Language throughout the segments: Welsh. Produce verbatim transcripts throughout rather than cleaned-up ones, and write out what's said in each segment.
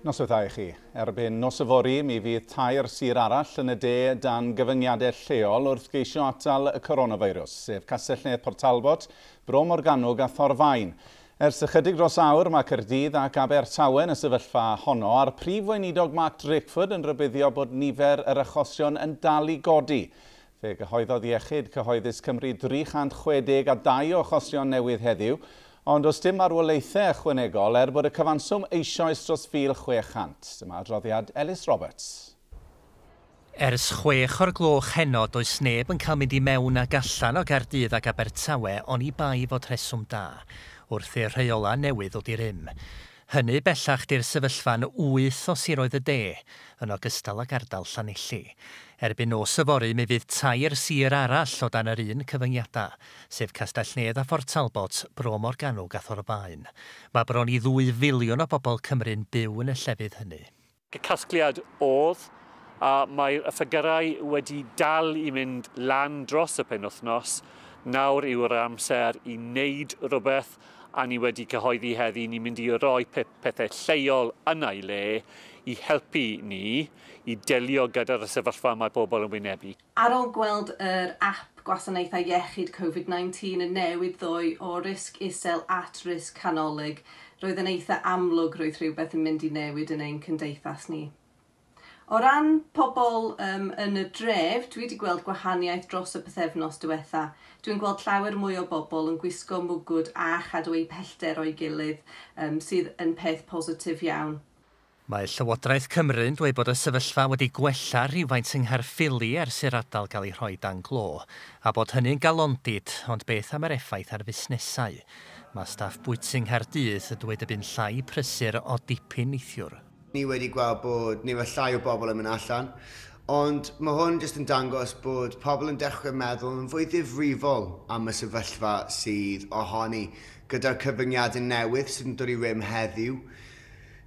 Noswaith dda i chi. Erbyn nos yfory, mi fydd tair sir arall yn y de dan gyfyngiadau lleol wrth geisio atal y coronavirus, sef Castell-nedd Port Talbot, Bro Morgannwg a Thorfaen. Ers ychydig dros awr, mae Caerdydd ac Abertawe yn y sefyllfa honno, a'r prif weinidog Mark Drakeford yn rhybuddio bod nifer yr achosion yn dal i godi. Fe gyhoeddodd Iechyd Cyhoeddus Cymru dri chant chwe deg a dau o achosion newydd heddiw, ond does dim marwolaethau ychwanegol er bod y cyfanswm eisoes dros fil chwe chant. Dyma adroddiad Ellis Roberts. Ers chwech o'r gloch heno, does neb yn cael mynd i mewn ag allan o Gaerdydd ac Abertawe oni bai fod rheswm da, wrth i'r rheolau newydd ddod i rym. Hynny bellach di'r sefyllfa'n wyth o siroedd y de, yn ogystal ag ardal Llanelli. Erbyn nos yfory, mi fydd tair sir arall o dan yr un cyfyngiadau, sef Castell-nedd a Phort Talbot, Bro Morgannwg a Thorfaen. Mae bron i ddwy filiwn o bobl Cymru'n byw yn y llefydd hynny. Y casgliad oedd, a mae'r ffigyrau wedi dal i mynd lan dros y penwythnos, nawr yw'r amser i wneud rhywbeth, a ni wedi cyhoeddi heddi, ni'n mynd i roi pethau lleol yna i le i helpu ni i delio gyda'r sefyllfa mae pobl yn wynebu. Ar ôl gweld yr app gwasanaethau iechyd Covid nineteen yn newid ddoe o risg isel at risg canolig, roedd yn eitha amlwg roedd rhywbeth yn mynd i newid yn ein cymdeithas ni. O ran pobl um, yn y dref, dwi wedi gweld gwahaniaeth dros y pythefnos diwetha. Dwi'n gweld llawer mwy o bobl yn gwisgo mwgwd a chadw eu pellter o'i gilydd, um, sydd yn peth positif iawn. Mae Llywodraeth Cymru'n dweud bod y sefyllfa wedi gwella rhywfaint yng Nghaerffili ers i'r ardal gael ei rhoi dan glo, a bod hynny'n galondid, ond beth am yr effaith ar fusnesau? Mae staff bwyty yng Nghaerdydd yn dweud y bu'n llai prysur o dipyn neithiwr. Ni wedi gweld bod nifer llai o bobl yn mynd allan, ond mae hwn jyst yn dangos bod pobl yn dechrau meddwl yn fwy ddifrifol am y sefyllfa sydd ohoni gyda'r cyfyngiadau newydd sydd yn dod i rym heddiw.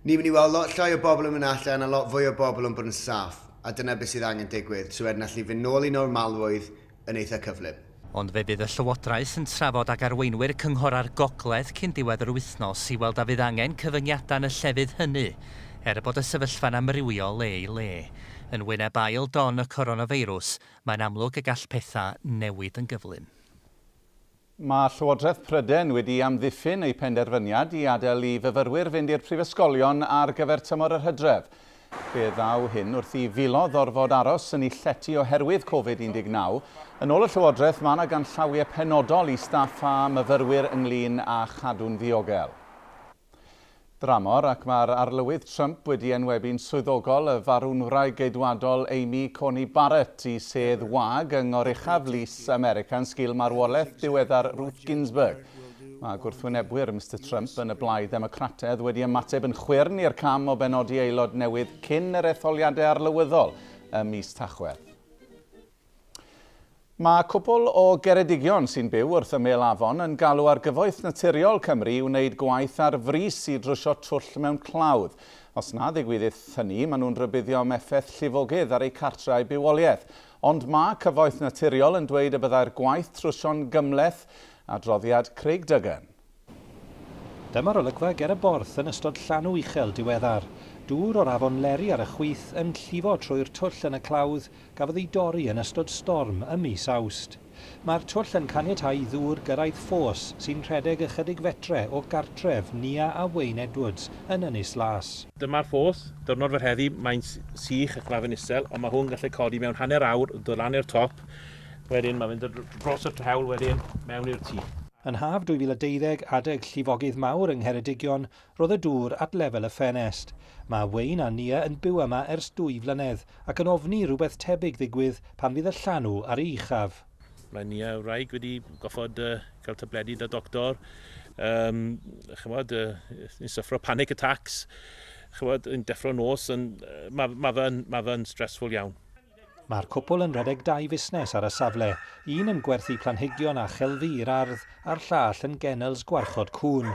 Ni'n mynd i weld lot llai o bobl yn mynd allan a lot fwy o bobl yn bod yn saff, a dyna beth sydd angen digwydd, so wedyn allu fynd nôl i normalrwydd yn eitha cyflym. Ond fe fydd y Llywodraeth yn trafod ag arweinwyr Cynghorau'r Gogledd cyn diwedd yr wythnos i weld a fydd angen cyfyngiadau yn y llefydd hynny, er bod y sefyllfa'n amrywio le i le. Yn wyneb ail don y coronafeirws, mae'n amlwg y gall pethau newid yn gyflym. Mae Llywodraeth Prydain wedi amddiffyn ei penderfyniad i adael i fyfyrwyr fynd i'r prifysgolion ar gyfer tymor yr hydref. Fe ddaw hyn wrth i filoedd orfod aros yn eu llety oherwydd Covid un deg naw. Yn ôl y Llywodraeth, mae yna ganllawiau penodol i staff a myfyrwyr ynglyn â chadw'n ddiogel. Dramor, ac mae'r arlywydd Trump wedi enwebu'n swyddogol y farwnwraig geidwadol Amy Coney Barrett i sedd wag yng Ngoruchaf Lys America yn sgil marwolaeth diweddar Ruth Ginsburg. Mae gwrthwynebwyr Mister Trump yn y blaid Ddemocrataidd wedi ymateb yn chwyrn i'r cam o benodi aelod newydd cyn yr etholiadau arlywyddol ym mis Tachwedd. Mae cwpl o Geredigion sy'n byw wrth ymyl afon yn galw ar Gyfoeth Naturiol Cymru i wneud gwaith ar frys i drwsio twll mewn clawdd. Os na ddigwyddith hynny, maen nhw'n rhybuddio am effaith llifogydd ar eu cartrau bywoliaeth. Ond mae Cyfoeth Naturiol yn dweud y byddai'r gwaith trwsio'n gymhleth, adroddiad Craig Duggan. Dyma'r olygfa ger y Borth yn ystod llanw uchel diweddar. Dŵr o'r afon Leri ar y chwith yn llifo trwy'r twll yn y clawdd gafodd ei dorri yn ystod storm ym mis Awst. Mae'r twll yn caniatáu ddŵr gyrraedd ffos sy'n rhedeg ychydig fetre o gartref Nia a Wayne Edwards yn Ynys Las. Dyma'r ffos, diwrnod fel heddi, mae'n sych ac mae fe'n isel, ond mae hwn gallu codi mewn hanner awr, dod lan i'r top, wedyn mae'n mynd dros y hewl wedyn mewn i'r tŷ. Yn haf dwy fil a deuddeg, adeg llifogydd mawr yng Ngheredigion, roedd y dŵr at lefel y ffenest. Mae Wayne a Nia yn byw yma ers dwy flynedd ac yn ofni rhywbeth tebyg ddigwydd pan fydd y llanw ar ei uchaf. Mae Nia wraig wedi goffod uh, cael tabledi da doctor, um, chymod, uh, yn syffro panic attacks, chymod, yn deffro nos, yn, uh, mae ma fe'n ma fe stressful iawn. Mae'r cwpl yn rhedeg dau fusnes ar y safle, un yn gwerthu planhigion a chelfi i'r ardd a'r llall yn gennels gwarchod cŵn.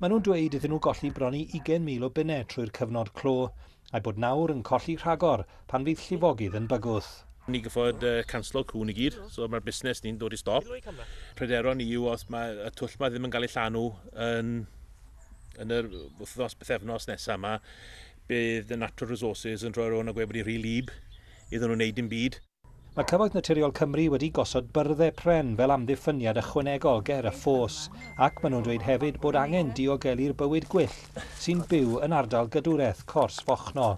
Maen nhw'n dweud iddyn nhw golli bron i ugain mil o bunnau trwy'r cyfnod clo, a'i bod nawr yn colli rhagor pan fydd llifogydd yn bygwth. Ni gyffod uh, canslo cŵn i gyd, so mae'r busnes ni'n dod i stop. Pryderon ni yw os mae y twll ma ddim yn cael ei llanw yn, yn yr wythnos pythefnos nesaf yma, Bydd y Natural Resources yn rhoi rownd a gweud bod hi'n rhy wlyb iddyn nhw wneud dim byd. Mae Cyfoeth Naturiol Cymru wedi gosod byrddau pren fel amddiffyniad ychwanegol ger y ffos, ac maen nhw'n dweud hefyd bod angen diogelu'r bywyd gwyllt sy'n byw yn ardal gadwraeth Cors Fochno.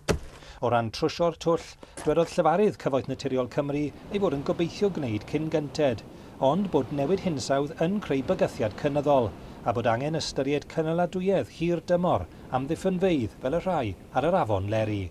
O ran trwsio'r twll, dwedodd llefarydd Cyfoeth Naturiol Cymru ei fod yn gobeithio gwneud cyn gynted, ond bod newid hinsawdd yn creu bygythiad cynyddol, a bod angen ystyried cynaladwyedd hir dymor amddiffynfeydd fel y rhai ar yr afon Leri.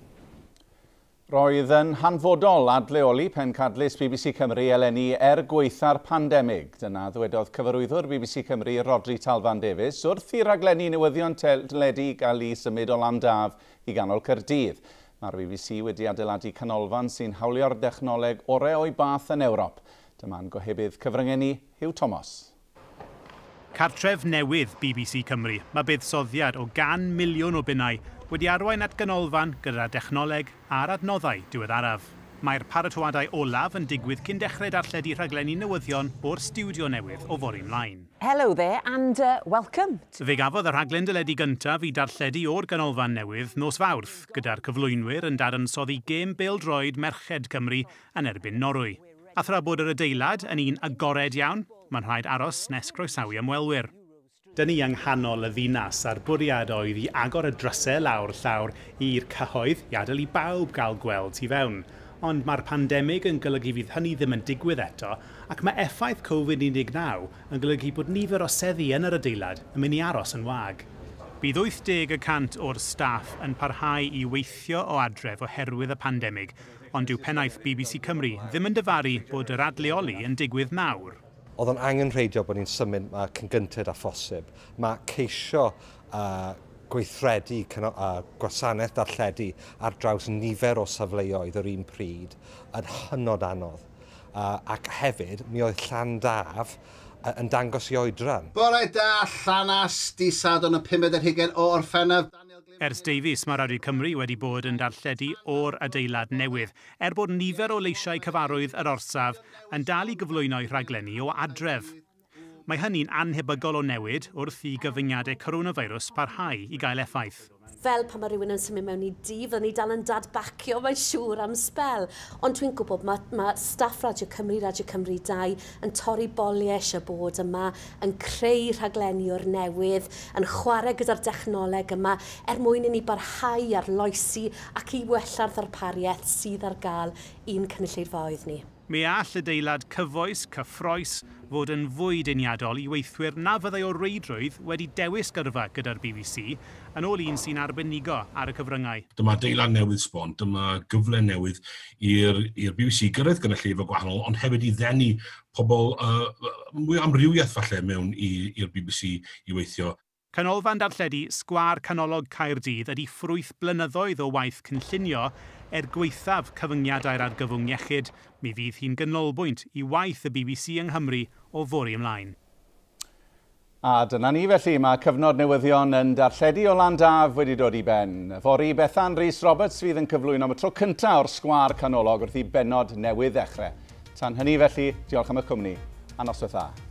Roedd yn hanfodol adleoli pencadlys B B C Cymru eleni er gwaetha'r pandemig. Dyna ddwedodd cyfarwyddwr B B C Cymru Rhodri Talfan Davies wrth i raglenni newyddion teledu gael ei symud o Landaf i ganol Caerdydd. Mae'r B B C wedi adeiladu canolfan sy'n hawlio'r dechnoleg orau o'i bath yn Ewrop. Dyma'n gohebydd cyfryngau ni, Huw Thomas. Cartref newydd B B C Cymru, mae buddsoddiad o gan miliwn o bunnau wedi arwain at ganolfan gyda dechnoleg a'r adnoddau diweddaraf. Mae'r paratoadau olaf yn digwydd cyn dechrau darlledu rhaglenni newyddion o'r stiwdio newydd o fory ymlaen. Hello there and uh, welcome. Fe gafodd y rhaglen deledu gyntaf i darlledu o'r ganolfan newydd nos Fawrth, gyda'r cyflwynwyr yn dadansoddi gêm bêl-droed Merched Cymru yn erbyn Norwy. A thra bod yr adeilad yn un agored iawn, mae'n rhaid aros nes croesawu ymwelwyr. Dyn ni yng nghanol y ddinas a'r bwriad oedd i agor y drysau lawr llawr i'r cyhoedd i adael i bawb gael gweld tu fewn. Ond mae'r pandemig yn golygu fydd hynny ddim yn digwydd eto, ac mae effaith Covid un deg naw yn golygu bod nifer o seddi yn yr adeilad yn mynd i aros yn wag. Bydd wyth deg y cant o'r staff yn parhau i weithio o adref oherwydd y pandemig, ond dyw pennaeth B B C Cymru ddim yn dyfaru bod yr adleoli yn digwydd nawr. Oedd o'n angenrheidiol bod ni'n symud yma cyn gynted â phosib. Mae ceisio uh, gweithredu uh, gwasanaeth darlledu ar draws nifer o safleoedd yr un pryd yn hynod anodd. Uh, ac hefyd, mi oedd Llandaf uh, yn dangos i oedran. Bore da, Llanas, di Sadwrn y pumed ar hugain o Orffennaf. Ers Davies, mae Radio Cymru wedi bod yn darlledu o'r adeilad newydd, er bod nifer o leisiau cyfarwydd yr orsaf yn dal i gyflwyno'i rhaglenni o adref. Mae hynny'n annhebygol o newid wrth i gyfyngiadau coronavirus parhau i gael effaith. Fel pan mae rhywun yn symud mewn i dŷ, fydden ni dal yn dadbacio, mae'n siŵr am sbel. Ond dwi'n gwybod mae, mae staff Radio Cymru, Radio Cymru dau yn torri boliau eisiau bod yma, yn creu rhaglenni o'r newydd, yn chwarae gyda'r dechnoleg yma, er mwyn i ni barhau arloesi ac i wella'r ddarpariaeth sydd ar gael i'n cynulleidfaoedd ni. Mi all adeilad cyfoes, cyffroes, fod yn fwy deniadol i weithwyr na fyddai o reidrwydd wedi dewis gyrfa gyda'r B B C, yn ôl un sy'n arbenigo ar y cyfryngau. Dyma adeilad newydd sbon, dyma gyfle newydd i'r B B C gyrraedd gynulleidfa gwahanol, ond hefyd i ddenu pobl uh, mwy o amrywiaeth falle mewn i'r B B C i weithio. Canolfan darlledu Sgwâr Canolog Caerdydd ydy ffrwyth blynyddoedd o waith cynllunio er gwaethaf cyfyngiadau'r argyfwng iechyd. Mi fydd hi'n ganolbwynt i waith y B B C yng Nghymru o fory ymlaen. A dyna ni felly, mae cyfnod newyddion yn darlledu o Landaf wedi dod i ben. Fory, Bethan Rhys Roberts fydd yn cyflwyno am y tro cyntaf o'r Sgwâr Canolog wrth i bennod newydd ddechrau. Tan hynny felly, diolch am y cwmni, a noswaith dda.